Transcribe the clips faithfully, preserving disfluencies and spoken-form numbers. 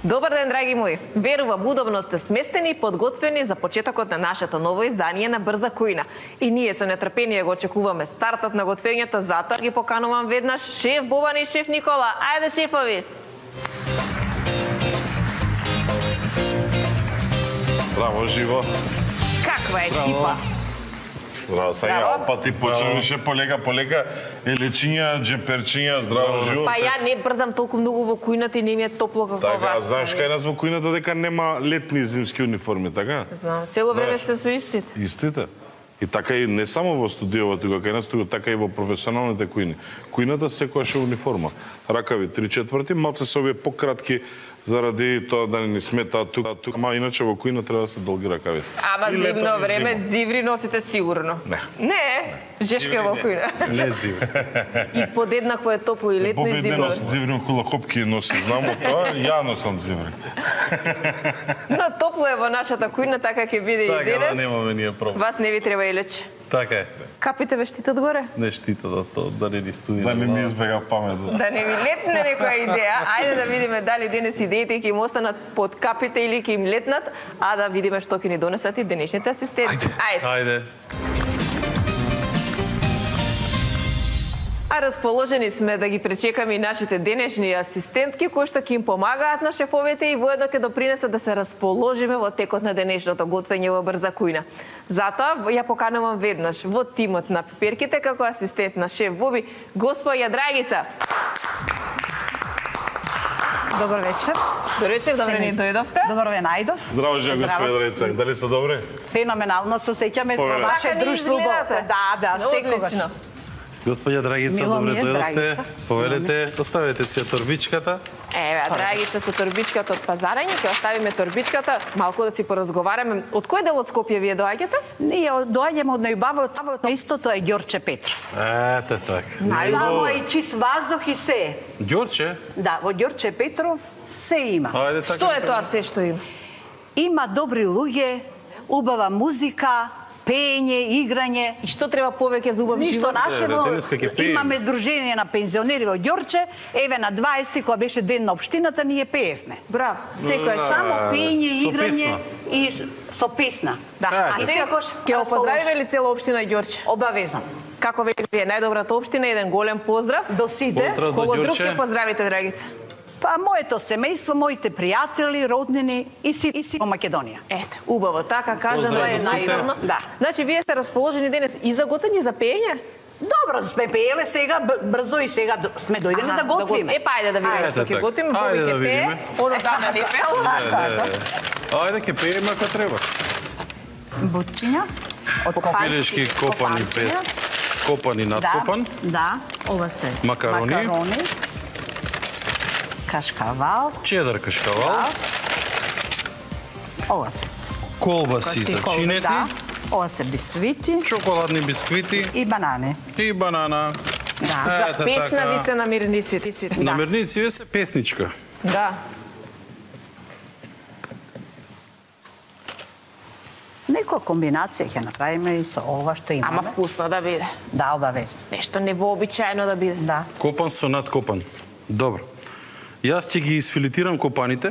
Добар ден, драги мои! Верувам, удобно сте сместени и подготвени за почетокот на нашето ново издание на Брза кујна. И ние со нетрпение го очекуваме стартот на готвењето, затоа ги поканувам веднаш шеф Бобан и шеф Никола. Ајде, шефови! Браво, живо! Каква екипа! Здраво, сега ја опати почнеше полека, полека, елечиња, джемперчиња, здраво, живо. Па ја не брзам толку многу во кујната и не ми е топло како така, вас. Така, знаеш кај нас во кујната дека нема летни и зимски униформи, така? Знам, цело време сте со истите. Истите. И така и не само во студиото тука кај нас, тука така и во професионалните кујни. Кујната секојаш е униформа. Ракави три четврти, малце се овие пократки заради тоа да не ни сметаат тука, тука, ама иначе во кујна треба да се долги ракавите. Ама зимно време дзиври носите сигурно. Не. Не, жешка во кујна. Не дзиври. И подеднакво е топло и летно и зимно. Бобе носи дзиври околу копки носи, знам од тоа, ја носам дзиври. Но топло е во нашата кујна, така ќе биде и денес. Така, да немаме ние проблем. Вас не ви треба илече. Така е. Капите ве штитат горе? Не штита да то, да не ни студира. Да не ми избега памет. Да не ви летне некоја идеја. Ајде да видиме дали денес идеите ќе им останат под капите или ќе им летнат, а да видиме што ќе ни донесат и денешните асистенти. Ајде. Ајде. А расположени сме да ги пречекаме и нашите денешни асистентки, кои што ќе им помагаат на шефовете и воедно ќе допринесат да се расположиме во текот на денешното готвење во Брза кујна. Затоа ја поканувам веднаш во тимот на пиперките како асистент на шеф Боби, госпоја Драгица. Добар вечер. Добар вечер, добре ни дојдовте. Добар ве најдов. Здраво, жена господја Драгица, дали се добре? Феноменално се сеќаме во ваше друштво. Да, да, секогаш. Господја Драгица, добре дојдовте. Повелете, оставете си ја торбичката. Еве, Драгица со торбичката од пазарање, ќе оставиме торбичката, малку да си поразговараме. Од кој дел од Скопје вие доаѓате? Ние доаѓаме од најубавото, истото е Ѓорче Петров. Ете така. Најубаво е чист ваздух и се. Ѓорче? Да, во Ѓорче Петров се има. Што е тоа се што има? Има добри луѓе, убава музика, пење, играње. И што треба повеќе за убав живот? Ништо нашево. Имаме здружение на пензионери во Ѓорче. Еве на дваесети кога беше ден на општината ние пеевме. Браво. Секој само пење, играње и со песна. Да. А секогаш ќе го поздравиме ли цела општина Ѓорче? Обавезно. Како ве најдобрата општина, еден голем поздрав до сите. Кого друг ќе поздравите, Драгица? Па моето семејство, моите пријатели, роднини и си и си во Македонија. Ете, убаво, така кажано е најдобро. Да. Значи вие сте расположени денес и за готвење, за пеење? Добро, сме пееле сега брзо и сега сме дојдени да готвиме. Е, па ајде да видиме што ќе готвиме, Боби ќе пее. Оно дана не пел. Ајде ќе пееме ако треба. Бутчиња од пилешки копани без копани надкопан. Да, ова се макарони. Макарони. Кашкавал. Чедар кашкавал. Да. Ова се. Колбаси за чинети. Да. Ова се бисквити. Чоколадни бисквити. И банани. И банана. Да. За песна ви се намирниците. Да. Намирници ви се песничка. Да. Некоја комбинација ќе направиме и со ова што имаме. Ама вкусно да биде. Да, обавезно. Нешто невообичаено да биде. Да. Копан со надкопан. Добро. Јас ќе ги изфилитирам копаните.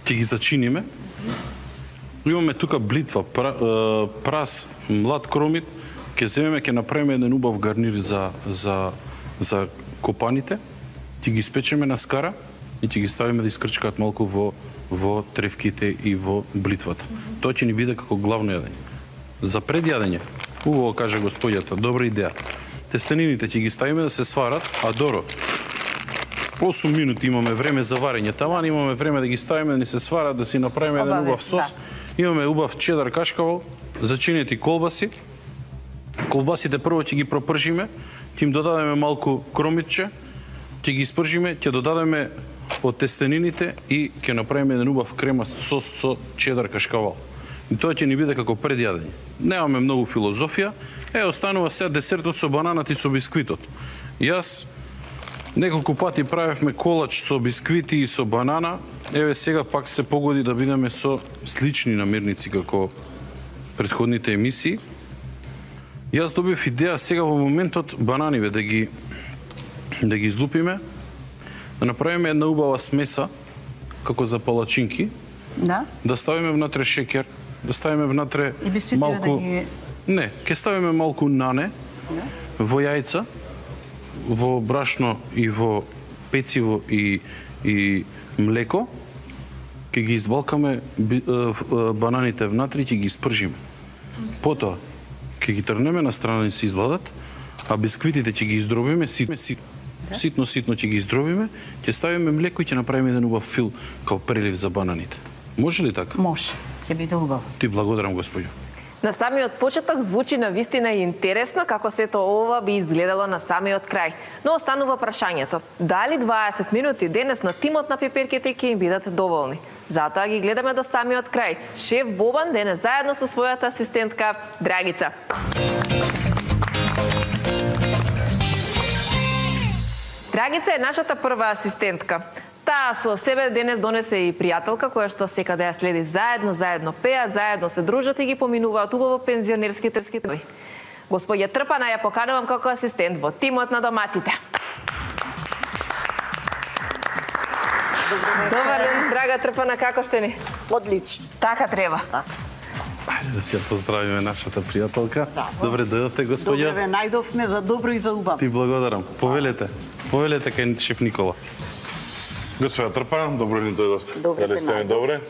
Ќе ги зачиниме. Имаме тука блитва, прас, млад кромит. Ќе земеме, ќе направиме еден убав гарнир за за за копаните. Ќе ги испечеме на скара и ќе ги ставиме да искрчкаат малку во во тревките и во блитвата. Тоа ќе ни биде како главно јадење. За предјадење, убаво каже господјата, добра идеја. Тестенините ќе ги ставиме да се сварат, а доро осум минути имаме време за варење. Таман имаме време да ги ставиме да ни се сварат, да си направиме еден убав сос. Да. Имаме убав чедар кашкавал, зачинети колбаси. Колбасите прво ќе ги пропржиме, ќе им додадеме малку кромитче, ќе ги испржиме, ќе додадеме од тестенините и ќе направиме еден убав кремаст сос со чедар кашкавал. И тоа ќе ни биде како предјадење. Немаме многу филозофија. Е, останува сега десертот со бананат и со бисквитот. Јас неколку пати правевме колач со бисквити и со банана. Еве сега пак се погоди да бидеме со слични намирници како претходните емисии. Јас добив идеја сега во моментот бананиве да ги да ги излупиме, да направиме една убава смеса, како за палачинки, Да. да ставиме внатре шеќер, да ставиме внатре И би малку... да ги... Не, ќе ставиме малку нане, Да. во јајца, во брашно и во пециво и, и млеко, ќе ги извалкаме би- е, е, бананите внатре и ќе ги испржиме. Потоа, ќе ги трнеме на страна да се изладат, а бисквитите ќе ги издробиме, ситно, ситно, ситно ќе ги издробиме, ќе ставиме млеко и ќе направиме еден убав фил као прелив за бананите. Може ли така? Може. Ќе биде убаво. Ти благодарам, господјо. На самиот почеток звучи на вистина интересно како сето ова би изгледало на самиот крај. Но останува прашањето, дали дваесет минути денес на тимот на пеперките ќе им бидат доволни? Затоа ги гледаме до самиот крај. Шеф Бобан денес заедно со својата асистентка Драгица. Драгица е нашата прва асистентка. Таа со себе денес донесе и пријателка која што секаде ја следи заедно, заедно пеат, заедно се дружат и ги поминуваат убаво пензионерски трските. Господја Трпана ја поканувам како асистент во тимот на доматите. Добар ден, драга Трпана, како сте ни? Одлично. Така треба. Ајде да си ја поздравиме нашата пријателка. Добре дојдовте, господја. Добре, ве најдовме за добро и за убаво. Ти благодарам. Повелете. Повелете кај шеф Никола. Господја Трпана, добро ни дојдовте. Добре, Дали сте ми најдов. добре?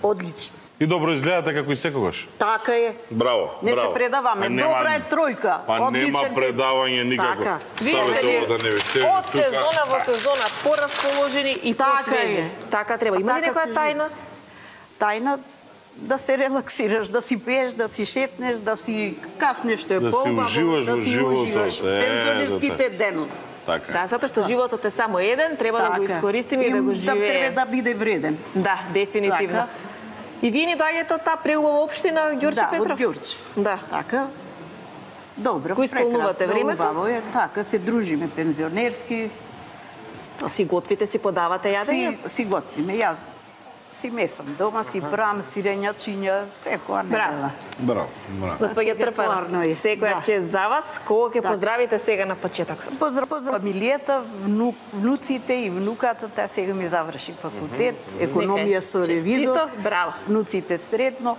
Одлично. И добро изгледате како и секогаш. Така е. Браво, Не браво. се предаваме. Па нема- Добра е тројка. Па нема Одличен. предавање никако. Така. Ставете Вие ово да не ви тежи од тука. сезона во сезона порасположени и Така посвежи. е. Така треба. Има ли Така некоја се тајна? Тајна да се релаксираш, да си пиеш, да си шетнеш, да си каснеш што е Да си поубаво, уживаш да во си животот. уживаш. Е, Пензионерските за денови. Така. Да, затоа што животот е само еден, треба да го Така. искористиме и да го Да треба живееме. да биде вреден. Да, дефинитивно. Така. И вие ни доаѓате од таа преубава општина Ѓорче Да, Петров? од Ѓорче. Да. Така. Добро, Кој исполнувате прекрасно, времето? убаво е. Така, се дружиме пензионерски, Си готвите, си подавате јадење? си, си готвиме. Јас си месам дома, си брам, сирењачиња, секоја недела. Браво, браво. Господја Сега Трпана, порно е. секоја Да. чест за вас. Кого ќе Така. поздравите сега на почеток? Поздрав, поздрав фамилијата, вну, внуците и внуката, таа сега ми заврши факултет, економија со ревизор. Честито, браво. Внуците средно.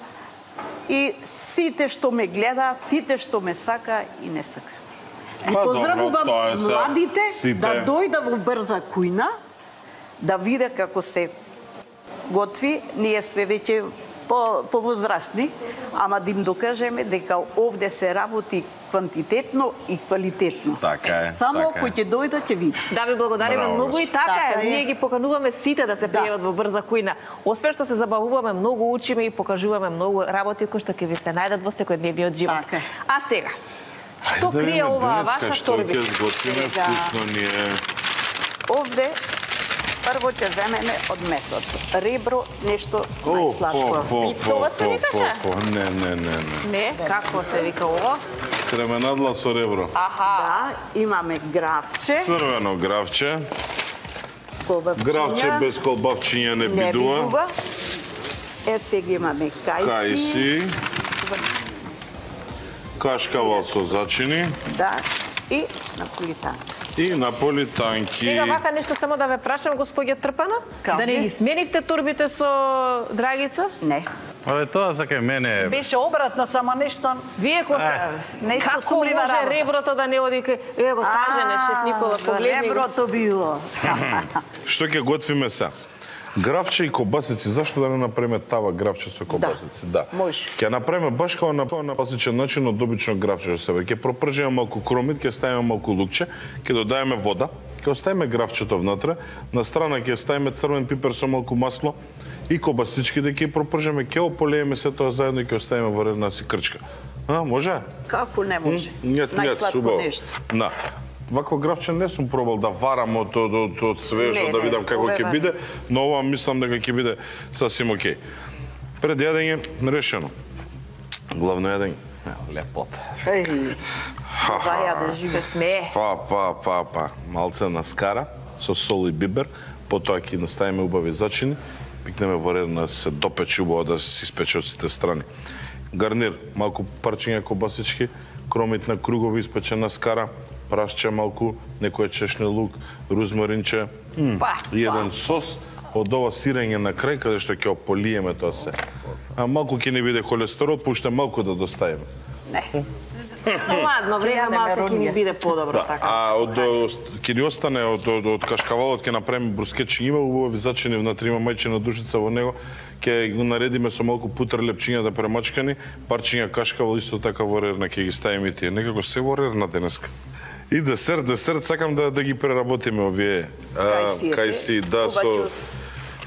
И сите што ме гледа, сите што ме сака и не сака. И Па, поздравувам добро, тоа е се. младите Сите. да дојда во Брза кујна, да виде како се готви. Ние сме веќе по, повозрастни, ама да им докажеме дека овде се работи квантитетно и квалитетно. Така е, Само така е. кој ќе дојде ќе види. Да ви благодариме Браво, многу и така, Така е. е. Ние ги покануваме сите да се Да. пријават во Брза кујна. Освен што се забавуваме, многу учиме и покажуваме многу работи кои што ќе ви се најдат во секојдневниот живот. Така е. А сега, што Ајде да крие видиме оваа денеска ваша што торби? ќе сготвиме, Сега. вкусно ни е. Овде прво ќе земеме од месото. Ребро, нешто О, најслашко. по, Пицова се викаше? по, Не, не, не, не. Не, како се вика ово? Кременадла со ребро. Аха. Да, имаме гравче, Црвено гравче. колбавчиња. Гравче без колбавчиња не не бидува. бидува. Е, сега имаме кајси. Кајси. Кашкавал со зачини. Да, и наполитан. И наполитанки. Сега вака нешто само да ве прашам, господја Трпана, Кажи. да не ги сменивте турбите со Драгица? Не. Але тоа за кај мене е... Беше обратно, само нешто... Вие кој Ајде. сте? Нешто Како сумлива може работа. реброто да не оди кај... Е, го кажене, шеф Никола, за погледни го. реброто било. Што ќе готвиме се? Гравче и кобасици, зашто да не направиме тава гравче со кобасици? Да. може. Ќе направиме баш како на на класичен начин од обично гравче со себе. Ќе пропржиме малку кромит, ќе ставиме малку лукче, ќе додаеме вода, ќе оставиме гравчето внатре, на страна ќе ставиме црвен пипер со малку масло и кобасичките ќе пропржиме, ќе ополееме се тоа заедно и ќе оставиме во една си крчка. А, може? Како не може? Нет, нет, Најсладко убаво. нешто. Да. Вакво гравче не сум пробал да варам од, од, од, од свежо, Не, да не, видам како ова е ќе варено. биде, но ова мислам дека ќе биде сасим окей. Пред јадење, решено. Главно јадење. Лепота. Еј, ваја да живе. Се смее. Па, па, па, па. Малце на скара, со сол и бибер, потоа ќе наставиме убави зачини, пикнеме во ред да се допече убаво да се испече од сите страни. Гарнир, малку парчиња кобасички, кромит на кругови испечена скара, прасче малку, некој чешне лук, рузмаринче, Па, и еден сос од ова сирење на крај, каде што ќе ополиеме тоа се. А малку ќе не биде холестерол, пуште малку да доставиме. Не. ладно време малку ќе ни биде подобро Да, така. а од ќе ни остане од од, од кашкавалот ќе направиме брускетчи, има убави зачини внатре, има мајчина душица во него, ќе го наредиме со малку путер лепчиња да премачкани, парчиња кашкавал исто така во рерна ќе ги ставиме и тие. Некако се во рерна денеска. И десерт, десерт сакам да да ги преработиме овие кајси, да со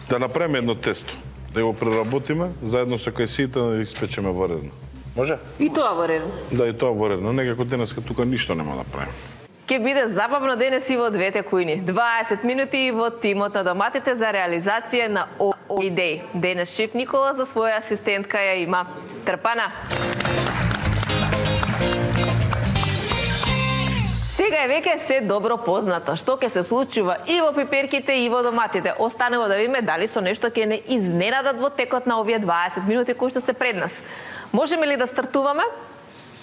да направиме едно тесто. Да го преработиме заедно со кајсиите да ги испечеме во рерна. Може? И тоа во ред. Да, и тоа во рерна. Некако денеска тука ништо нема да правиме. Ке биде забавно денес и во двете кујни. дваесет минути во тимот на доматите за реализација на овие идеи. Денес шеф Никола за своја асистентка ја има. Трпана. Сега е веќе се добро познато што ќе се случува и во пиперките и во доматите. Останува да видиме дали со нешто ќе не изненадат во текот на овие дваесет минути кои што се пред нас. Можеме ли да стартуваме?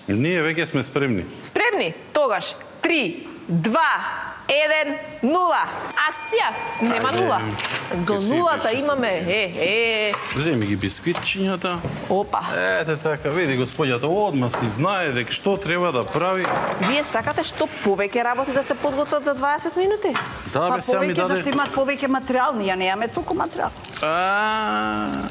Ние веќе сме спремни. Спремни? Тогаш три, два, еден, нула. Акција! Нема нула. До нулата имаме. Е, е. Земи ги бисквитчињата. Опа. Ете така, види господјата, одма си знае дека што треба да прави. Вие сакате што повеќе работи да се подготват за дваесет минути? Да, Па бе, сега ми повеќе, даде... зашто имаат повеќе материјал, ние немаме толку материјал. А,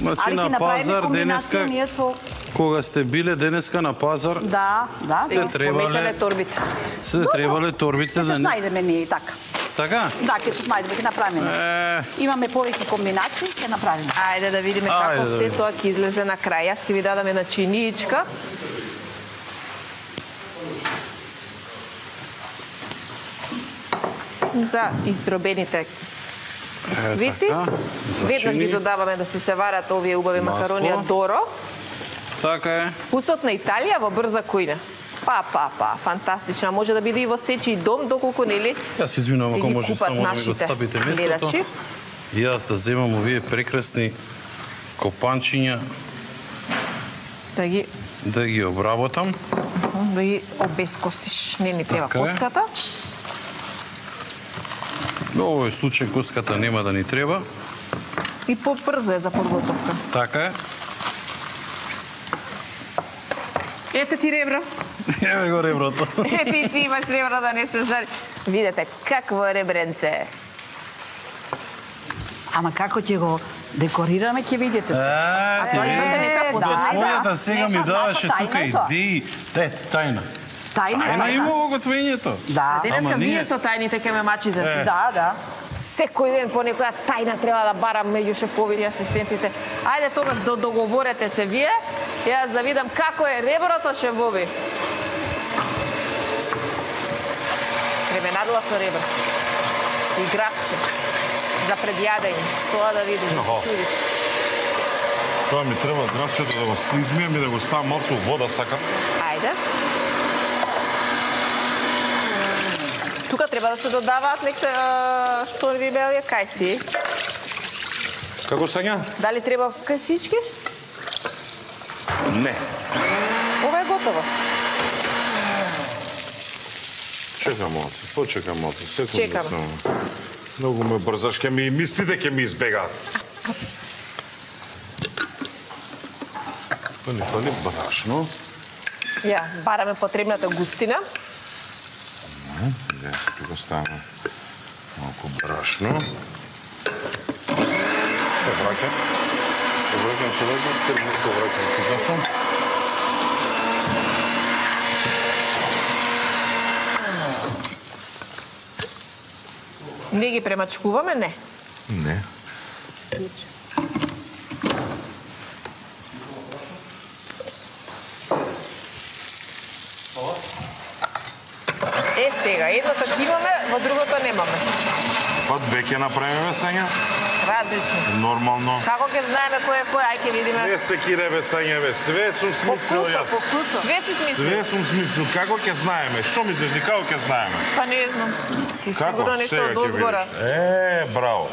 Значи Али на ќе направиме пазар комбинација денеска, ние со... кога сте биле денеска на пазар, Да, да. Се требале- Помешале торбите. се требале торбите Ќе се за... снајдеме ние и така. Така? Да, ќе се снајдеме, ќе направиме. Е, Имаме повеќе комбинации, ќе направиме. Ајде да видиме Ајде како да се видиме. тоа ќе излезе на крај. Јас ќе ви дадам една чиниичка. За издробените свити. така, Веднаш ги зачини. додаваме да си се варат овие убави Масло. макарони од Доро. Така е. Вкусот на Италија во брза кујна. Па, па, па, фантастична. Може да биде и во сечи дом, доколку нели Јас извинувам се ако ги може купат само да ми го нашите отстапите местото. гледачи. И јас да земам овие прекрасни копанчиња, Да ги да ги обработам. да ги обескостиш. Не ни треба Така е. коската. Во овој случај коската нема да ни треба. И побрзо е за подготовка. Така е. Ете ти ребра. Еве го реброто. Ете и ти имаш ребра да не се жали. Видете какво е ребренце. Ама како ќе го декорираме, ќе видите се. А, тоа имате нека Е, подготовка. Господјата сега ми Неша- даваше наша тука тајна е тоа. идеи. Те, тајна. Тајна, Тајна има во готвењето. Да, Денеска Ама вие ние- со тајните ке ме мачите. Е. да, да. Секој ден по некоја тајна треба да барам меѓу шефовите и асистентите. Ајде тогаш до договорете се вие. Јас да видам како е реброто, шефови. Кременадла со ребра. И грабче. За предјадење. Тоа да видиш. Аха. Видиш. Тоа ми треба грабчето да го измијам и да го ставам малку вода, сакам. Ајде. Тука треба да се додаваат некте а, што ви беа кајси. Како сања? Дали треба кајсички? Не. Ова е готово. Чекам малце, почекам малце, секунда. Чекаме. само. Многу ме брзаш, ке ми мислите, ке ми избегаат. Па ни фали брашно. Ја, бараме потребната густина. Ја се тука ставаме малку брашно. Се враќам. Се враќам, се враќам, се враќам, се враќам. Не ги премачкуваме, не. Не. Е, сега, едното ќе имаме, во другото немаме. Па две ќе направиме сања. Различно. Нормално. Како ќе знаеме кој е кој, ај ќе видиме. Не се киреве сања, бе. Све сум По смислил вкусо, јас. по вкусо. Све си смисли. Све сум смислил. Како ќе знаеме? Што мислиш, како ќе знаеме? Па не знам. Ти Како? сигурно нешто Сега од ќе озгора. видиш. Е, браво.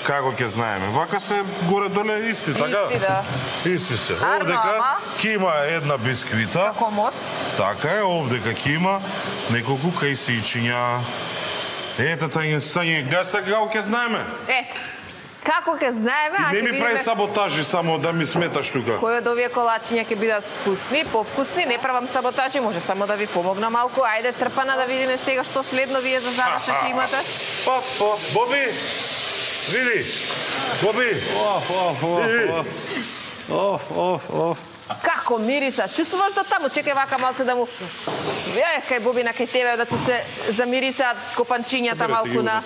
како ќе знаеме. Вака се горе-доле исти, така? Исти, да. Исти се. Арно, Овдека ама? ќе има една бисквита. Како мост. Така е, овдека ќе има неколку кајсичиња. Ете, тај сање, гаса како ќе знаеме. Ете. Како ќе знаеме, а Не ќе ми прави видиме саботажи само да ми сметаш тука. кои од овие колачиња ќе бидат вкусни, повкусни. Не правам саботажи, може само да ви помогна малку. Ајде трпана да видиме сега што следно вие за завршек ќе имате. Па, па, Боби, види, Боби. Оф, оф, оф, оф. Оф, оф, оф. Како мириса? Чувствуваш до таму? Чекај вака малце да му... Е, кај Бобина, кај тебе да ти се замирисаат копанчињата малку на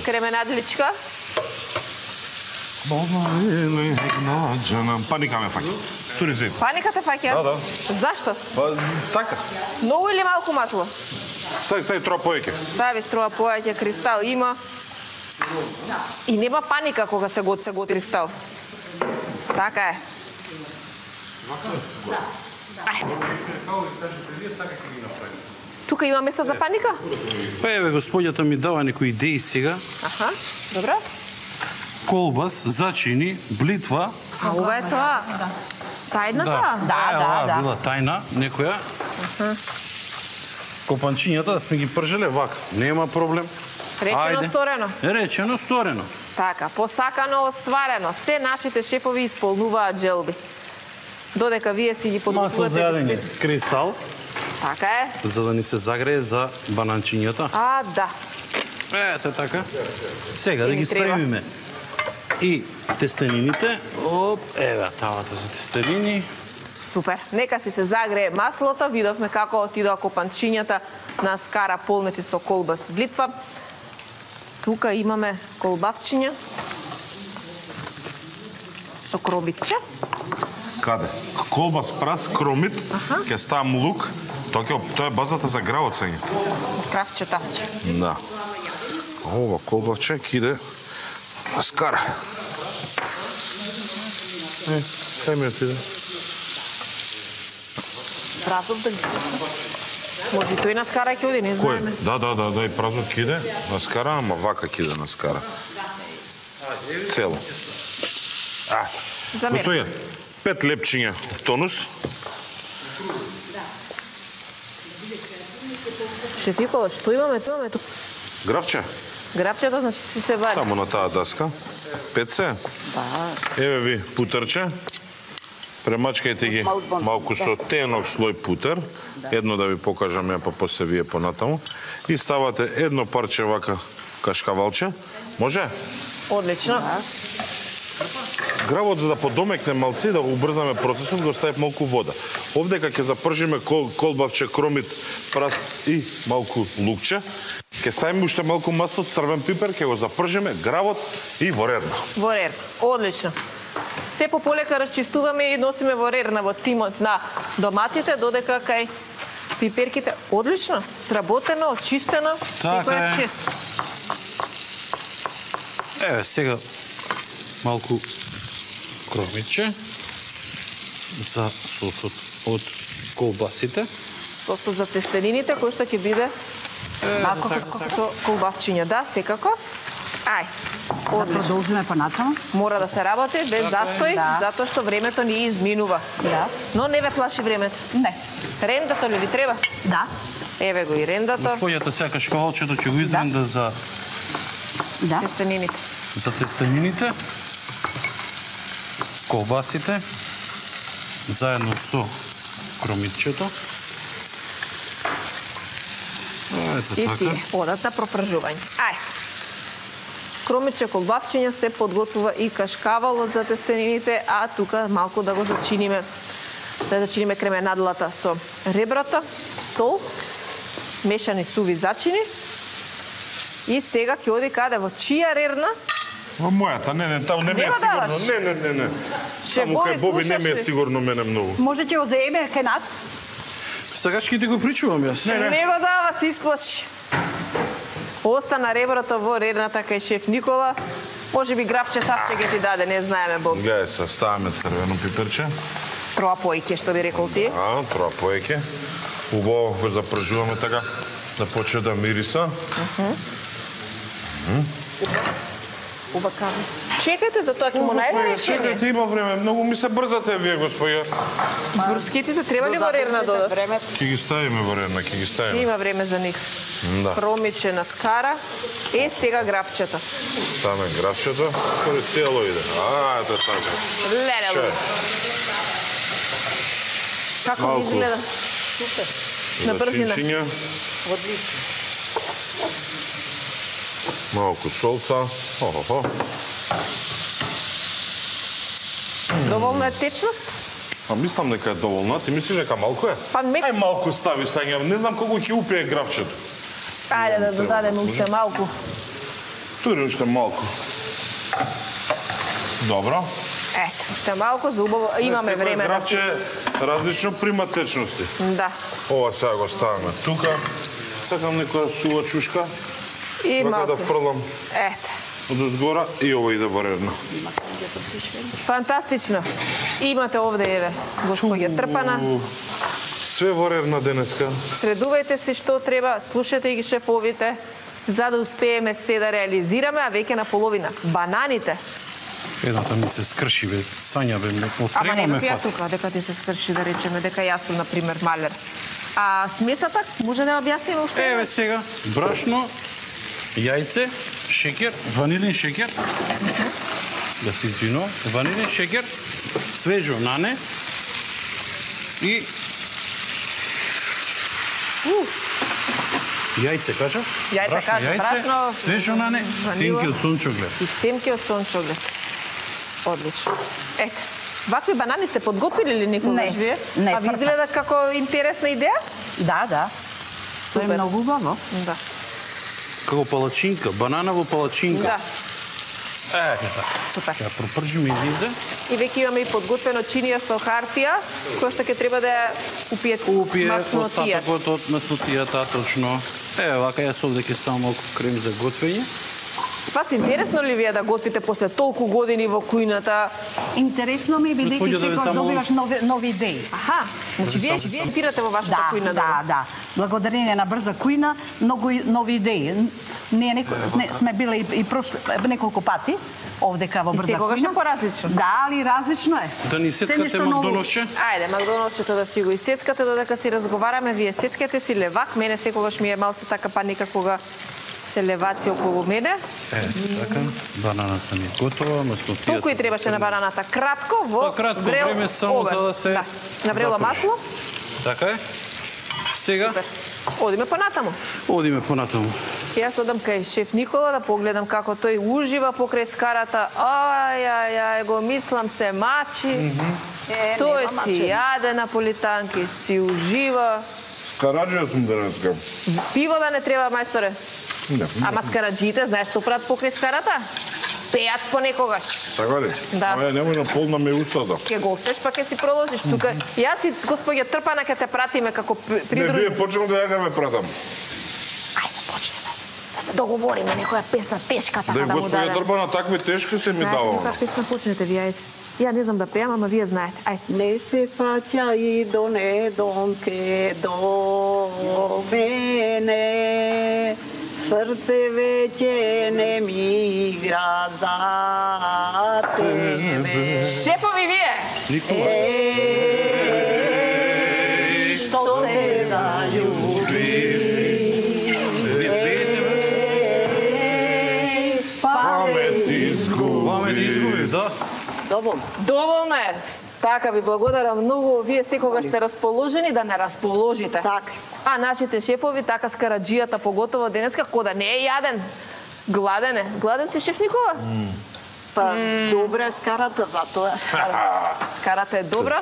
кременадличка. Паника ме фаќа. Тури се. Паника те фаќа? Да, да. Зашто? Па, така. Многу или малку масло? Стај, стај, троа поеќе. Стави струва поеќе, кристал има. И нема паника кога се гот се гот кристал. Така е. Ајде. Тука има место за паника? Па еве, господјата ми дава некои идеи сега. Аха, добро. Колбас, зачини, блитва. А ова е тоа? Тајната? Да, Е, да, оваа да. била тајна, некоја. Копанчињата да сме ги пржеле вака. Нема проблем. Речено, Ајде. сторено. Речено, сторено. Така, посакано, остварено. Се нашите шефови исполнуваат желби. Додека вие си ги Масло подготвувате... за јадење, кристал, Така е. за да ни се загрее за бананчињата. А, да. Ете така. Сега да И ги ни треба. спремиме. И тестенините. Оп, еве тавата за тестенини. Супер. Нека си се загрее маслото. Видовме како отидоа копанчињата на скара полнети со колбас и блитва. Тука имаме колбавчиња со кробитче. Каде? Колбас, прас, кромит, ќе ставам лук. Тоа ќе тоа е базата за гравот сега. Кравче, тавче. Да. Ова колбасче ќе иде на скара. Е, кај ми отиде? Празов да ги... Може и тој на скара ќе оди, не Кој? знаеме. Да, да, да, да, и празот ќе иде на скара, ама вака ќе иде на скара. Цело. А, За мене. Господије, пет лепчиња тонус. Шеф Никола, што имаме тоа? Имаме тук Гравче, грабчето, значи си се вади. таму на таа даска. Пет се. Да. Еве ви путерче. Премачкајте ги малку со тенок слој путер. Едно да ви покажам ја, па после вие понатаму. И ставате едно парче вака кашкавалче. Може? Одлично. Гравот за да подомекне малци, да го убрзаме процесот, го ставив малку вода. Овдека ќе запржиме кол, колбавче, кромит, прас и малку лукче. Ќе ставиме уште малку масло, црвен пипер, ќе го запржиме, гравот и во рерна. Во рер. Одлично. Се пополека расчистуваме и носиме во рерна во тимот на доматите, додека кај пиперките. Одлично. Сработено, очистено. Така Секој е. е чист. Еве сега малку кромиче за сосот од колбасите. Сосот за тестенините, кој што ќе биде малку со колбавчиња. Да, секако. Ај. Да Одлично. продолжиме понатаму. Мора да се работи без застој, Да. затоа што времето ни изминува. Да. Но не ве плаши времето. Не. Рендато ли ви треба? Да. Еве го и рендато. Господјата сакаш кавалчето ќе го изренда за Да. Тестенините. за тестенините. Колбасите заедно со кромитчето. Ето И така. тие одат на пропржување. Ај. Кромиче, колбавчиња се подготвува и кашкавалот за тестенините, а тука малку да го зачиниме, да зачиниме кременадлата со реброто, сол, мешани суви зачини. И сега ќе оди каде? Во чија рерна? Во мојата, не, не, таму не ми Не е го сигурно. даваш? Не, не, не, не. Шеф Таму кај Боби, Боби не ми е слушаш ли? сигурно мене многу. Може ќе го заеме кај нас? Сакаш ќе ти го причувам јас. Не, не. Не го дава, се исплаши. Остана реброто во рерната кај шеф Никола. Може би грабче савче ќе ти даде, не знаеме, Боб. Гледај се, ставаме црвено пиперче. Троа поиќе, што би рекол ти. А, троа поеќе. Убаво го запржуваме така, да почне да мириса. Ова кави. Чекайте, за тоа ќе му најде решение. Чекайте, има време. Многу ми се брзате вие, господја. Брускетите треба ли во рерна додат? Ќе ги ставиме во рерна, ќе ги ставиме. Има време за нив. Да. Промиче на скара. Е, сега грабчето. Ставаме грабчето, кој цело иде. А, ето така. Леле. Како ви изгледа? Супер. На брзина. Одлично. Малку солца. Хо-хо-хо. Доволна е течност? А мислам дека е доволна. Ти мислиш дека малку е? Па мек... Ај малку стави сега. Не знам колку ќе упие грабчето. Ајде да додадеме уште малку. Тури уште малку. Добро. Ето, уште малку за убаво. Имаме време. Грабче различно прима течности. Да. Ова сега го ставаме тука. Сакам некоја сува чушка. И Вака малку. да фрлам Ето. од озгора и ова иде во редно. Фантастично. Имате овде, еве, господја Трпана. Све во редно денеска. Средувајте се што треба, слушате ги шефовите, за да успееме се да реализираме, а веќе на половина. Бананите. Едната ми се скрши, бе, Сања, бе, ме Ама отрема нема ме ја фат. тука, дека ти се скрши, да речеме, дека јас сум, например, малер. А смесата, може да ја објасниме уште? Еве сега, брашно, јајце, шеќер, ванилин шеќер, да се извинувам, ванилин шеќер, свежо нане и јајце, кажа? Јајце, Брашно, кажа, брашно, свежо нане, ванила. семки од сончоглед. И семки од сончоглед. Одлично. Ето, вакви банани сте подготвили ли никогаш Не, вие? не, А ви прва. изгледа како интересна идеја? Да, да. Тоа е Супер. многу убаво. Да. Како палачинка, банана во палачинка. Да, Е, супер. ја пропржим и излезе. И веќе имаме и подготвено чинија со хартија, која што ќе треба да ја упиете Упие маснотија. остатокот од маснотијата, точно. Е, вака јас овде ќе ставам малку крем за готвење. Вас интересно ли вие да готвите после толку години во кујната? Интересно ми е бидејќи Господја, да ви секој само- добиваш нови, нови идеи. Аха, значи вие сам- вие тирате во вашата Да, кујна. да, да. Благодарение на брза кујна, многу и- нови идеи. Ние неко, сме, сме биле и, и прошли неколку пати овдека во И брза секогаш кујна. е поразлично. Да, али различно е. Да ни Се сеткате нешто ново. Макдоновче? Ајде, Макдоналдсчето да си го исецкате додека си разговараме, вие сецкате си левак, мене секогаш ми е малце така паника кога се леваци околу мене. Е, така, бананата ми е готова, маснотијата. Толку и требаше на бананата. Кратко во Па, кратко врел време само овен. за да се Да. Наврело запуши. масло. Така е. Сега, Супер. Одиме понатаму. одиме понатаму. Јас одам кај шеф Никола да погледам како тој ужива покрај скарата. Ај, ај, ај, го мислам се мачи. Е, Тој нема си мачење. јаде наполитанки, си ужива. Скараджија сум денеска. Пиво да не треба, мајсторе. Не. Ама скараджиите, знаеш што прават покрај скарата? Пеат понекогаш. Така ли? Да. Ај, немој на полна ме устата. Ке го офтеш, па ке си продолжиш тука. Јас и господја Трпана ке те пратиме како при- Не, придружи. вие почнем да ја ме пратам. Ајде, почнеме. Да се договориме некоја песна тешка така Да, да му господја дадем. Трпана, такви тешки се ми Знаете дава. каква песна почнете вие, ајде. Ја не знам да пеам, ама вие знаете. Ајде. Не се фаќа и до недонке до мене, срце веќе не ми игра за тебе. Шефови вие! Никола. Е, што те залюби, памет изгуби. Ваме да изгуби, да? Доволно. Доволно е. Така ви благодарам многу. Вие секогаш сте расположени да не расположите. Така. А нашите шефови, така скараджијата поготово денеска, кода не е јаден. Гладен е. Гладен си, шеф Никола? Па, добра е скарата, затоа. Скарата е добра.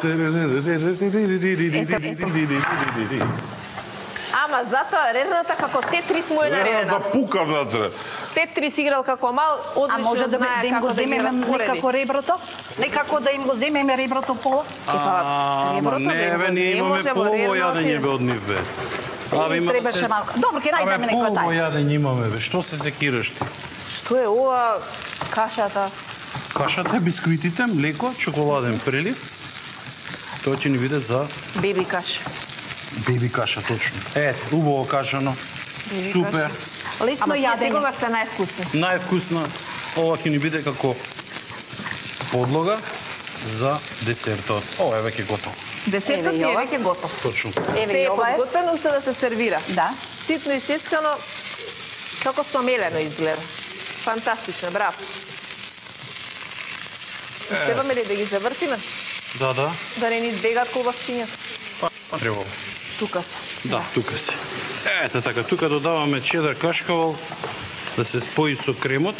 Ама затоа рерната како Тетрис му е Да наредена. пукав натре. Тетрис играл како мал, А одлично може да, знае да им како го да ги земеме распореди. некако реброто? Некако да им го земеме реброто по... Ама реброто не, да бе, им ние не имаме може во полово рерно јадење отиде. бе од нив, бе. Абе, има Требаше малко. Добро, ќе најдеме некој полово тај. јадење имаме, бе. Што се секираш ти? Што е ова кашата? Кашата, бисквитите, млеко, чоколаден прелив. Тоа ќе ни биде за Беби каш. беби каша, точно. Е, убаво кашано. Супер. Лесно Ама тие јадење. секогаш се највкусни. Највкусна. ова ќе ни биде како подлога за десертот. Ова е веќе готово. Десертот е веќе готов. Точно. Еве Се и е ова е. подготвено уште да се сервира. Да. Ситно и сескано, како смелено изгледа. Фантастично, браво. Требаме ли да ги завртиме? Да, да. Да не ни избегат колбасчињата? Па треба. Тука. Да, тука се. Ете така, тука додаваме чедар кашкавал да се спои со кремот.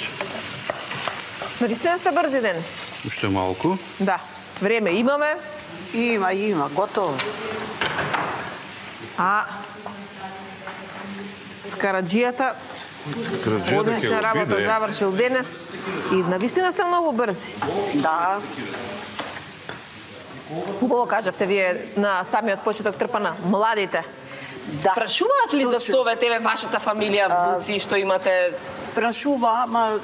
Наистина сте брзи денес. Уште малку. Да. Време имаме. Има, има, готово. А Скараджијата Краđета одлична ќе го работа биде. завршил денес и навистина сте многу брзи. Да, Убаво кажавте вие на самиот почеток трпана, младите. да. Прашуваат ли за Точно. совете ве вашата фамилија, внуци, што имате? Прашува, ама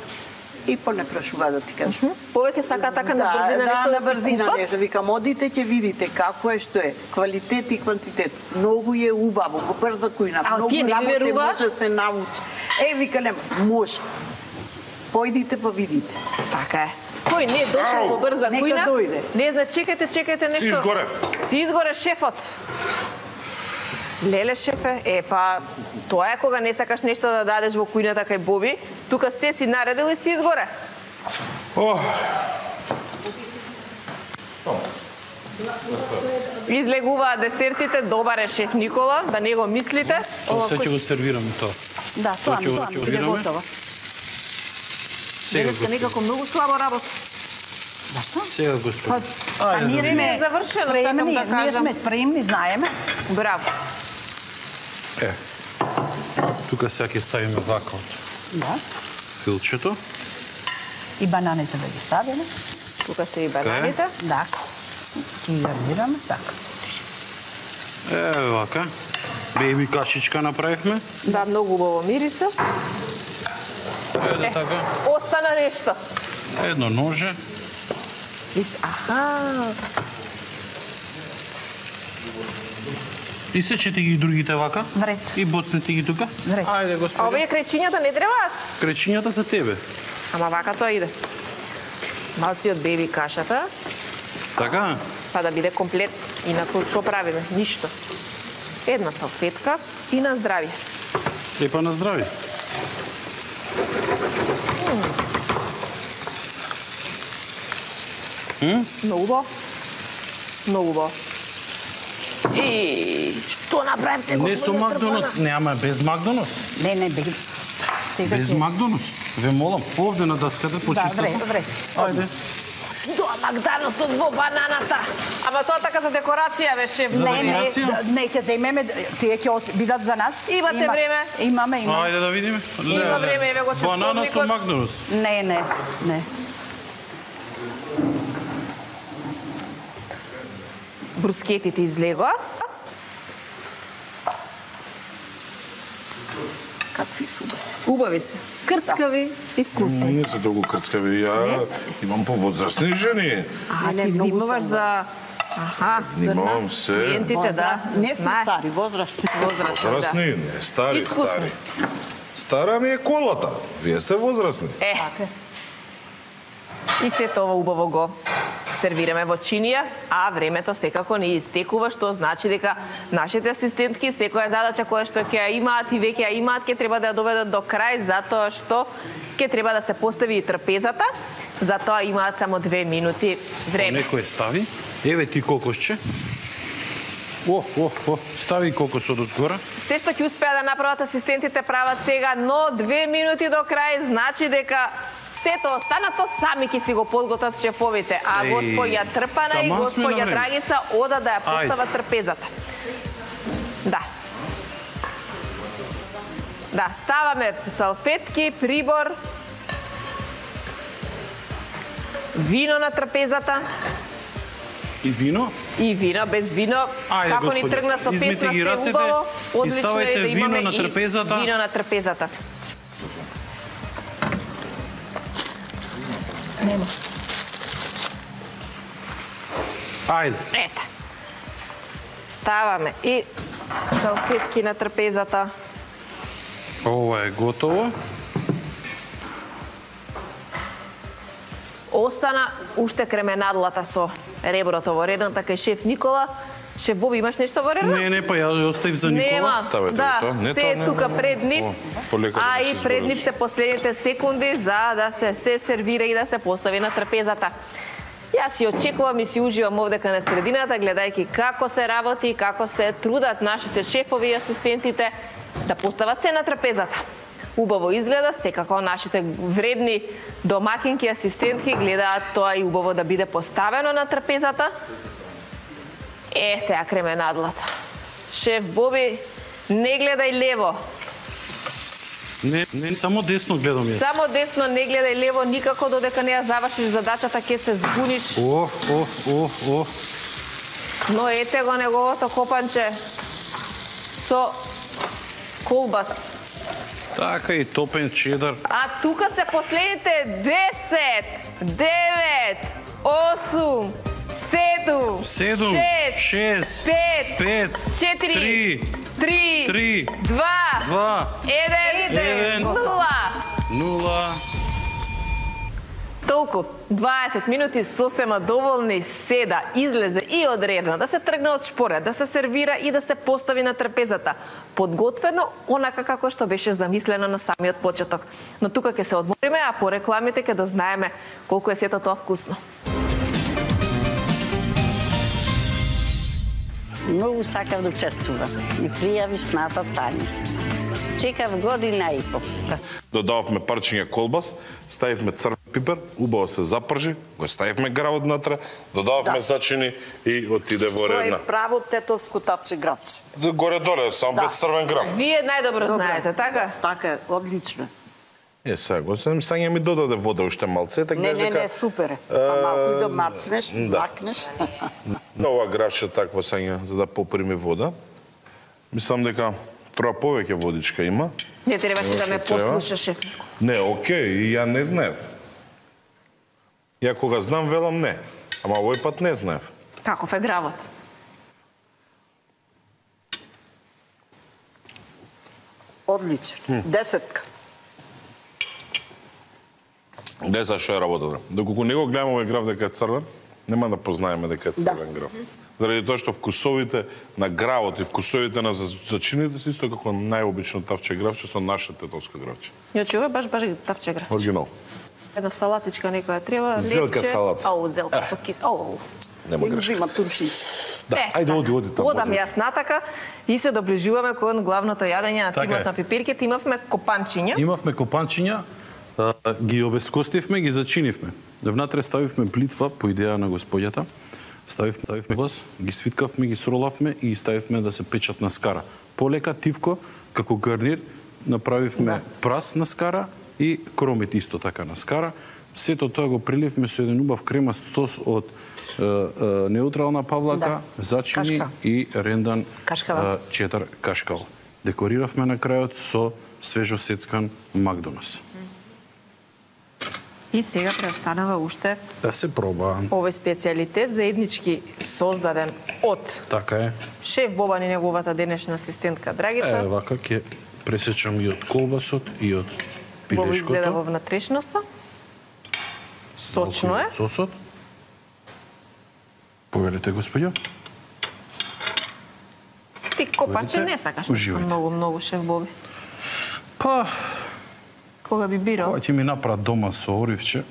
и по не прашува да ти кажам. Повеќе сака така на брзина да, нешто на да се брзина купат? нешто. Викам, одите, ќе видите како е, што е. Квалитет и квантитет. Многу е убаво, во брза кујна. А, Многу тие не ви работе веруваат? може да се научи. Е, вика, нема, може. Појдите па видите. Така е. Кој не е дошол во брза Нека кујна? дојде. Не зна, чекајте, чекајте нешто. Си изгорев. Си изгоре шефот. Леле шефе, е па тоа е кога не сакаш нешто да дадеш во кујната кај Боби, тука се си наредил и си изгоре. Ох, Излегуваат десертите, добар е шеф Никола, да не го мислите. Ова Се ќе кој го сервираме тоа. Да, тоа ќе ми, го- тоа ќе ми го биде видиме? готово. Сега денеска го, некако многу слабо работа. сега го Па, спомнам. па Ајде, ние да Не сме е завршено, спремни, сакам да ние кажам. сме спремни, знаеме. Браво. Е, тука сега ќе ставиме вака од Да. филчето. И бананите да ги ставиме. Тука се и бананите. Да. И гарнираме така. Е, вака. Беби кашичка направивме. Да, многу убаво мириса. Еде така. Остана нешто. Едно ноже. Ис- Аха. И сечете ги другите вака. Вред. И боцнете ги тука. Вред. Ајде, А господи. овие крајчињата не требаат? Кречињата за тебе. Ама вака тоа иде. Малци од беби кашата, Така? па да биде комплет. Инаку што правиме? Ништо. Една салфетка и на здравје. Епа на здрави. Многу убаво. Многу убаво. И што направивте? Не со господине Макдоналдс. Трпана? Не, ама без Макдоналдс. Не, не, беги. Сега Без ќе- Макдоналдс. Ве молам, овде на даската Да, почистете. вред, вред. Ајде. Тоа Макдоналдсот во бананата. Ама тоа така за декорација беше. За Не, не, декорација? не ќе земеме, тие ќе ос- бидат за нас. Имате Има- време? Имаме, имаме. Ајде да видиме. Има Леле. време, еве го Банана со часовникот. Макдоналдс. Не, не, не. Брускетите излегоа. Какви су бе? Убави се. Крцкави и вкусни. не се толку крцкави. Ја имам повозрастни жени. А, Не, ти многу внимаваш сам. за... Аха, за Внимавам нас, се. клиентите, да. Не сме Знае. стари, возрастни. Возрастни, Возрастни, да. не, стари, И вкусни. стари. Стара ми е колата. Вие сте возрастни. Е. И се тоа убаво го сервираме во чинија, а времето секако не истекува, што значи дека нашите асистентки секоја задача која што ќе ја имаат и веќе ја имаат, ќе треба да ја доведат до крај, затоа што ќе треба да се постави и трпезата, затоа имаат само две минути време. Некој стави. Еве ти кокосче. О, о, о, стави кокосот од гора. Се што ќе успеа да направат асистентите прават сега, но две минути до крај значи дека сето останато сами ќе си го подготват шефовите, а Еј, господја Трпана и таман сме на господја време. Драгица ода да ја Ајде. постават трпезата. Да. Да, ставаме салфетки, прибор, вино на трпезата И вино. и вино, без вино, Ајде, како ни господи, тргна со измите песна ги се рацете убаво, и одлично ставајте е да вино имаме на и трпезата. вино на трпезата. Нема. Ајде. Ете. Ставаме и салфетки на трпезата. Ова е готово. остана уште кременадлата со реброто во реден, така и шеф Никола. Шеф Боби, имаш нешто во реден? Не, не, па ја оставив за Никола. Нема, Ставете да, го тоа. Не, се тоа е не, тука не, не. пред нив, О, полека а да и се пред нив избориш. се последните секунди за да се се сервира и да се постави на трапезата. Јас си очекувам и си уживам овдека на средината, гледајќи како се работи, како се трудат нашите шефови и асистентите да постават се на трапезата. Убаво изгледа, секако нашите вредни домакинки, асистентки гледаат тоа и убаво да биде поставено на трапезата. Е, теа кременадлата. Шеф Боби, не гледај лево. Не, не, само десно гледам јас. Само десно, не гледај лево, никако додека не ја завршиш задачата, ќе се збуниш. О, о, о, о. Но ете го неговото копанче со колбас. Така и топен чедар. А тука се последните десет, девет, осум, седум, Седум, шест, шест, пет, пет, четири, три, три, три, два, два, еден, еден, нула. нула. Толку, дваесет минути сосема доволни се да излезе и од редна, да се тргне од шпоред, да се сервира и да се постави на трапезата. Подготвено, онака како што беше замислено на самиот почеток. Но тука ќе се одмориме, а по рекламите ќе дознаеме колку е сето тоа вкусно. Многу сакав да учествувам и пријави сната Тања. Чекав година и по. Додававме парчиња колбас, ставивме црвен пипер, убаво се запржи, го ставивме гравот натре, додававме Да. зачини и отиде во Тоа редна. е право тетовско тапче гравче. Горе-доле, само Да. без црвен грав. Вие најдобро знаете, така? Така е, одлично. Е, сега, го сам Сања ми додаде вода уште малце, така Не, не, дека, не, супер е. А малку и да мацнеш, да. макнеш. ова гравче такво Сања, за да поприми вода. Мислам дека троа повеќе водичка има. Не требаше да ме Треба. послушаше. Не, окей, и ја не знаев. Ја кога знам, велам не. Ама овој пат не знаев. Каков е гравот? Одличен. Десетка. Деца што е работата. Доколку не го гледаме овој грав дека е црвен, нема да познаеме дека е црвен Да. грав. Заради тоа што вкусовите на гравот и вкусовите на зачините се исто како најобично тавче гравче со наше тетовско гравче. Јочи, ова баш баш тавче грав. Оригинал. Една салатичка некоја треба. Зелка лепче. салата. Ау, зелка со кис. Ау. Нема И грешка. взима турши. Да, Е, ајде оди, оди таму. Одам оди. јас натака и се доближуваме кон главното јадење на Така тимот е. на пипирките. Имавме копанчиња. Имавме копанчиња, а, ги обескостивме, ги зачинивме. Внатре ставивме блитва по идеја на господјата. Ставивме, ставивме глас, ги свиткавме, ги сролавме и ги ставивме да се печат на скара. Полека, тивко, како гарнир, направивме Да. прас на скара и кромит исто така на скара. Сето тоа го приливме со еден убав кремаст сос од е, е, неутрална павлака, Да. зачини Кашка. и рендан Кашкава. е, чедар кашкал. Декориравме на крајот со свежо сецкан Макдонас. И сега преостанава уште Да се проба. овој специјалитет заеднички создаден од Така е. шеф Бобан и неговата денешна асистентка Драгица. Е, вака ќе пресечам и од колбасот и од Бобо изгледа во пилешкото. внатрешноста. Сочно е. Малку и од сосот. Повелете, господјо. Ти копаче Видите? не сакаш Уживајте. многу, многу шеф Боби. Па, Кога би бирал? кога ќе ми направат дома со оривче,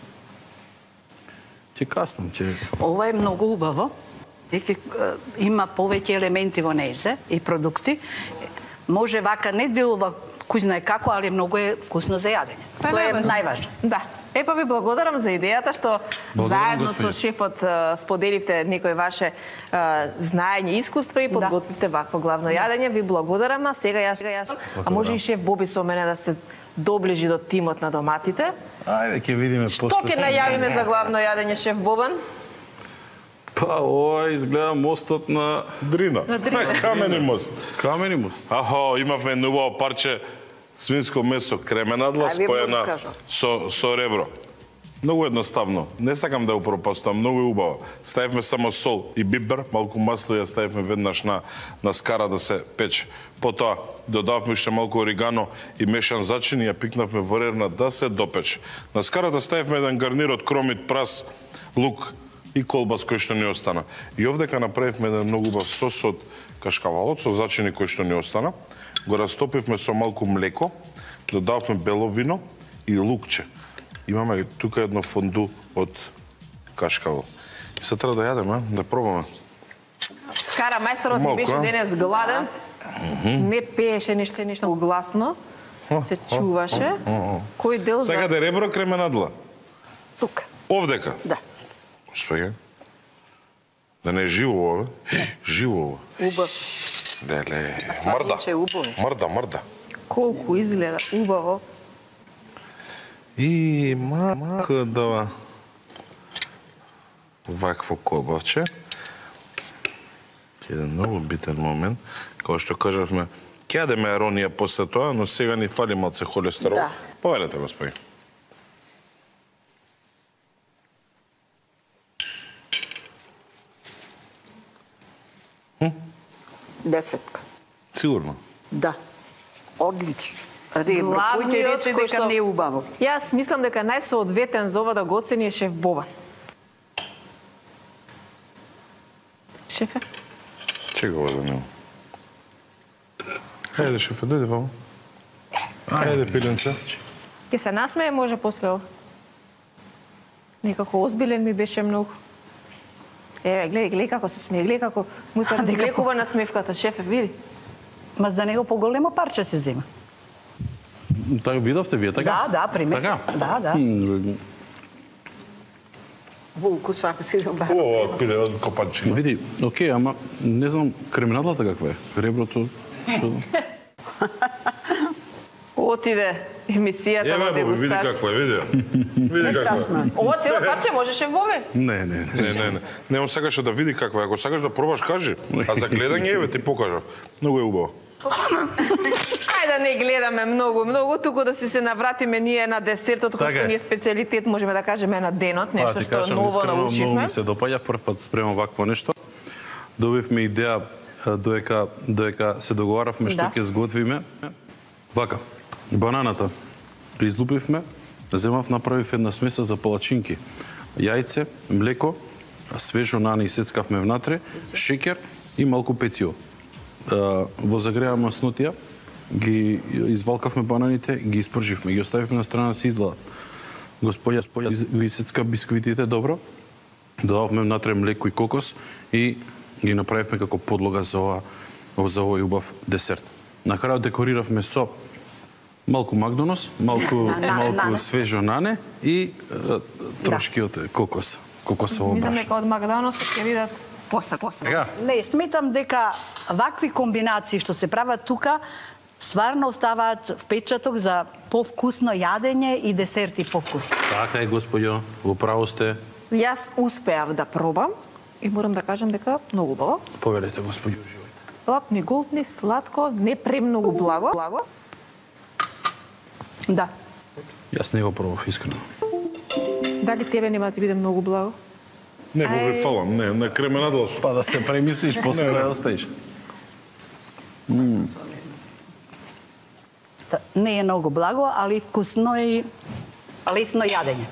ќе каснам, ќе... Ова е многу убаво. Дека е, има повеќе елементи во незе и продукти. Може вака не делува кој знае како, али многу е вкусно за јадење. Па Тоа е најважно. најважно. Да. Е, па ви благодарам за идејата што Благодарам, заедно со господине. шефот а, споделивте некој ваше а, знаење и искуство и подготвивте вакво главно јадење. Ви благодарам, а сега јас, сега јас а може и шеф Боби со мене да се доближи до тимот на доматите. Ајде, ќе видиме Што после. ќе најавиме за главно јадење, шеф Бобан? Па, ова изгледа мостот на Дрина. На Дрина. На камени мост. Камени мост. Ахо, имавме едно убаво парче свинско месо кременадла Ајде, споена Бог кажа. со, со ребро. Многу едноставно. Не сакам да ја упропастувам, многу е убаво. Ставивме само сол и бибер, малку масло ја ставивме веднаш на на скара да се пече. Потоа додавме уште малку оригано и мешан зачин и ја пикнавме во рерна да се допече. На скарата ставивме еден гарнир од кромит, прас, лук и колбас кој што ни остана. И овдека направивме еден многу убав сос од кашкавалот со зачини кој што ни остана. Го растопивме со малку млеко, додавме бело вино и лукче. Имаме тука едно фонду од кашкавал. И се треба да јадеме, да пробаме. Скара мајсторот ми беше денес гладен. Не пееше ништо ништо гласно. Се чуваше. Кој дел за... Сакате ребро кременадла? Тука. Овдека? Да. Господи. Да не е живо ова? Живо ова. Убав. Леле. Мрда. Мрда, мрда. Колку изгледа убаво. И мако да вакво колбавче. Еден многу битен момент. Као што кажавме, ќе јадеме аронија после тоа, но сега ни фали малце холестерол. Да. Повелете, господи. Десетка. Сигурно. Да. Одлично. Ребро, кој ќе рече дека не е убаво? Јас мислам дека најсоодветен за ова да го оцени е шеф Боба. Шефе? Чека го да не. Хајде, шефе, дојде вамо. Хајде, пиленце. Ке се насмее може после ова. Некако озбилен ми беше многу. Еве, гледај, гледај како се смее, гледај како му се развлекува на смевката, шефе, види. Ма за него поголемо парче се зема. Така видовте вие, така? Да, да, пример. Така? Да, да. Волку сака си робар. О, пиле од копанчина. Види, окей, ама не знам кременадлата каква е. Реброто, што... Отиде емисијата Еве, на Боби, види дегустација. какво е, види. Види какво е. Ова цело парче можеше Бобе? Не, не, не. Не, не, не. Не, он сакаше да види какво е. Ако сакаш да пробаш, кажи. А за гледање, еве, ти покажав. Многу е убаво. Ајде да не гледаме многу, многу, туку да си се навратиме ние на десертот, кој Така што е. ни е специјалитет, можеме да кажеме на денот, нешто ти што кажам, ново искрено, Многу научивме. ми се допаѓа, прв пат спремам вакво нешто. Добивме идеја доека доека се договаравме што Да. ќе сготвиме. Вака, бананата ги излупивме, земав направив една смеса за палачинки. Јајце, млеко, свежо нане и сецкавме внатре, шеќер и малку пецио. Во загреа маснотија ги извалкавме бананите, ги испрживме, ги оставивме на страна да се изгладат. Господја, господја ги сецка бисквитите добро, додавме внатре млеко и кокос и ги направивме како подлога за ова за овој убав десерт. На крајот декориравме со малку макдонос, малку малку нане. свежо нане и е, трошки од кокос, кокосово Мислам брашно. дека од Макдоналдс ќе видат После, после. Сега? Не, сметам дека вакви комбинации што се прават тука стварно оставаат впечаток за повкусно јадење и десерти повкусно. Така е, господјо, во право сте. Јас успеав да пробам и морам да кажам дека многу убаво. Повелете, господјо, живој. Лапни, голтни, сладко, не премногу благо. Благо. Да. Јас не го пробав, искрено. Дали тебе нема да ти биде многу благо? Не, Боби, фалам. Не, на кременадла су. Па да се премислиш, после да ја оставиш. Та, Не е многу благо, али вкусно и лесно јадење.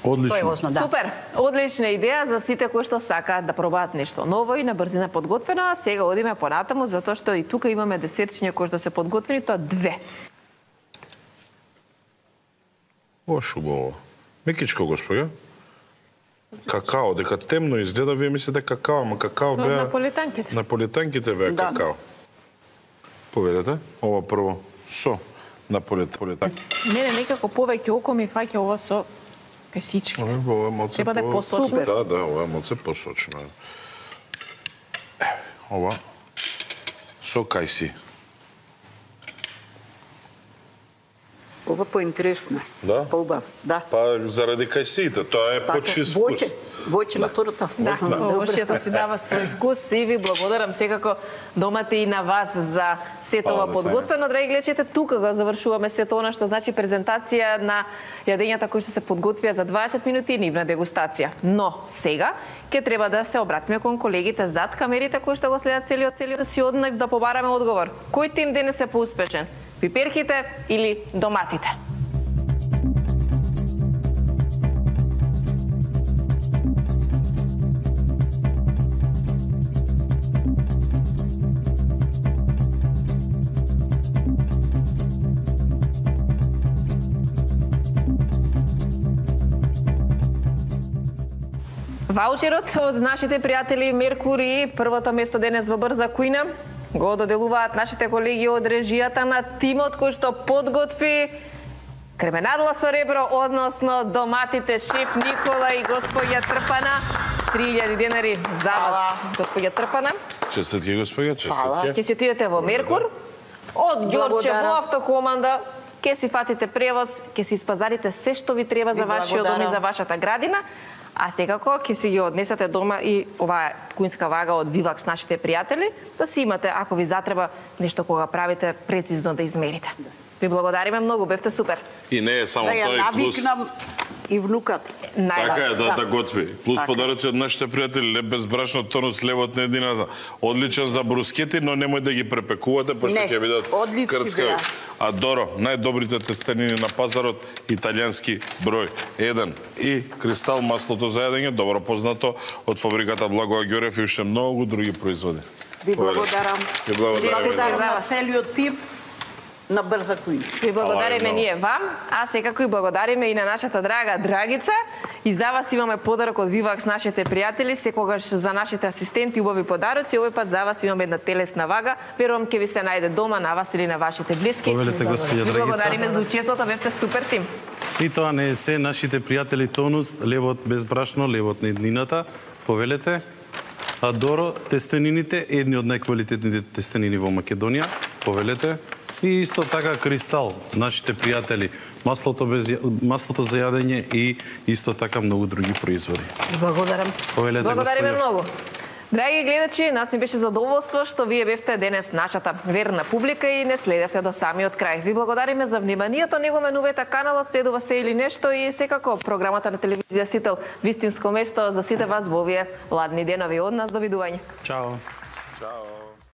Тоа е Одлично. важно, да. Супер! Одлична идеја за сите кои што сакаат да пробаат нешто ново и на брзина подготвено, а сега одиме понатаму затоа што и тука имаме десертчиња кои што се подготвени, тоа две. Ош убаво. Мекичко, господја. Какао, дека темно изгледа, вие мислите какао, ама какао Тоа од беа... наполитанките. Наполитанките беа Да. какао. Повелете, ова прво со наполитанки. Мене некако повеќе око ми фаќа ова со песички. Ова е малце Треба да е по- посочно. Супер. Да, да, ова е малце посочно. Еве, ова со кајси. Ова поинтересно. Да? Поубав, да. Па заради кајсиите, тоа е почист вкус. Воќе, воќе на торта. Да, овошјето си дава свој вкус и ви благодарам секако домате и на вас за сето ова подготвено. Драги гледачите, тука го завршуваме сето она што значи презентација на јадењата кои што се подготвија за дваесет минути и нивна дегустација. Но сега ќе треба да се обратиме кон колегите зад камерите кои што го следат целиот целиот си од нив да побараме одговор. Кој тим денес е поуспешен? Пиперките или доматите? Ваучерот од нашите пријатели Меркури, првото место денес во Брза кујна, го доделуваат нашите колеги од режијата на тимот кој што подготви кременадла со ребро, односно доматите, шеф Никола и господја Трпана. три илјади денари за вас, господја Трпана. Честитки, господја, честитки. Ќе си отидете во Меркур, од Ѓорче во автокоманда, ќе си фатите превоз, ќе си испазарите се што ви треба за вашиот дом и за вашата градина. А секако ќе си ги однесете дома и оваа куинска вага од Вивакс нашите пријатели, да си имате, ако ви затреба нешто кога правите, прецизно да измерите. Ви благодариме многу, бевте супер. И не е само да тој ја плюс. навикнам и внукат. Така е, да, да готви. Плюс така. Подароци од нашите пријатели, леп без брашно, тонус, левот на едината. Одличен за брускети, но немој да ги препекувате, пошто ќе видат крцкави. А Доро, најдобрите тестенини на пазарот, италијански број еден. И Кристал, маслото за јадење, добро познато од фабриката Благоја Ѓорев и уште многу други производи. Ви благодарам. Ви благодарам. На целиот тим на Брза кујна. Ви благодариме ние вам, а секако и благодариме и на нашата драга Драгица. И за вас имаме подарок од Вивакс нашите пријатели, секогаш за нашите асистенти убави подароци. Овој пат за вас имаме една телесна вага. Верувам ќе ви се најде дома, на вас или на вашите блиски. Повелете, господја Драгица. Ви благодариме за учеството, бевте супер тим. И тоа не е се, нашите пријатели Тонус, левот без брашно, левот на еднината, повелете. А Доро, тестенините, едни од најквалитетните тестенини во Македонија, повелете. И исто така Кристал, нашите пријатели, маслото без маслото за јадење и исто така многу други производи. Благодарам. Повелете, Благодариме господја. многу. Драги гледачи, нас ни беше задоволство што вие бевте денес нашата верна публика и не следевте до самиот крај. Ви благодариме за вниманието, не го менувате каналот, следува се или нешто и секако програмата на телевизија Сител вистинско место за сите вас во овие ладни денови. Од нас, довидување. Чао. Чао.